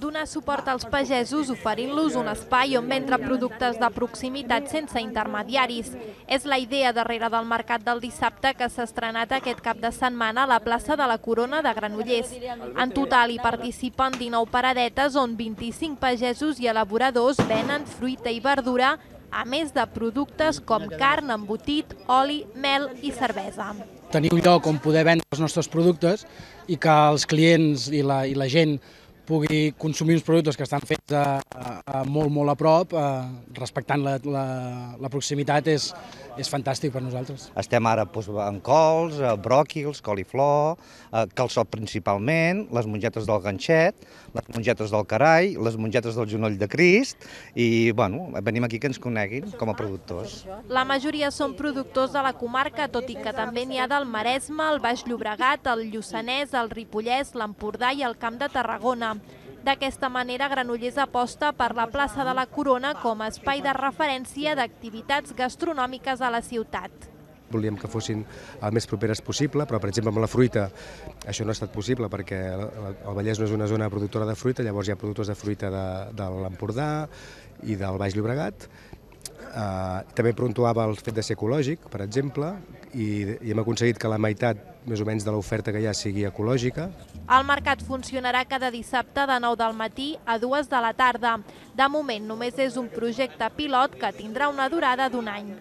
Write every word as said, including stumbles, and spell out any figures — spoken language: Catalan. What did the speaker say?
donar suport als pagesos oferint-los un espai on vendre productes de proximitat sense intermediaris. És la idea darrere del mercat del dissabte que s'ha estrenat aquest cap de setmana a la plaça de la Corona de Granollers. En total hi participen dinou paradetes on vint-i-cinc pagesos i elaboradors venen fruita i verdura, a més de productes com carn, embotit, oli, mel i cervesa. Tenir un lloc on poder vendre els nostres productes i que els clients i la, i la gent pugui consumir uns productes que estan fets a, a, a molt, molt a prop, a, respectant la, la, la proximitat, és, és fantàstic per nosaltres. Estem ara doncs, en cols, bròquils, coliflor, calçot principalment, les mongetes del ganxet, les mongetes del carall, les mongetes del genoll de Crist i bueno, venim aquí que ens coneguin com a productors. La majoria són productors de la comarca, tot i que també n'hi ha del Maresme, el Baix Llobregat, el Lluçanès, el Ripollès, l'Empordà i el Camp de Tarragona. D'aquesta manera, Granollers aposta per la plaça de la Corona com a espai de referència d'activitats gastronòmiques a la ciutat. Volíem que fossin el més properes possible, però per exemple amb la fruita això no ha estat possible perquè el Vallès no és una zona productora de fruita, llavors hi ha productors de fruita de, de l'Empordà i del Baix Llobregat. Uh, també puntuava el fet de ser ecològic, per exemple, i, i hem aconseguit que la meitat més o menys de l'oferta que hi ha sigui ecològica. El mercat funcionarà cada dissabte de nou del matí a dues de la tarda. De moment només és un projecte pilot que tindrà una durada d'un any.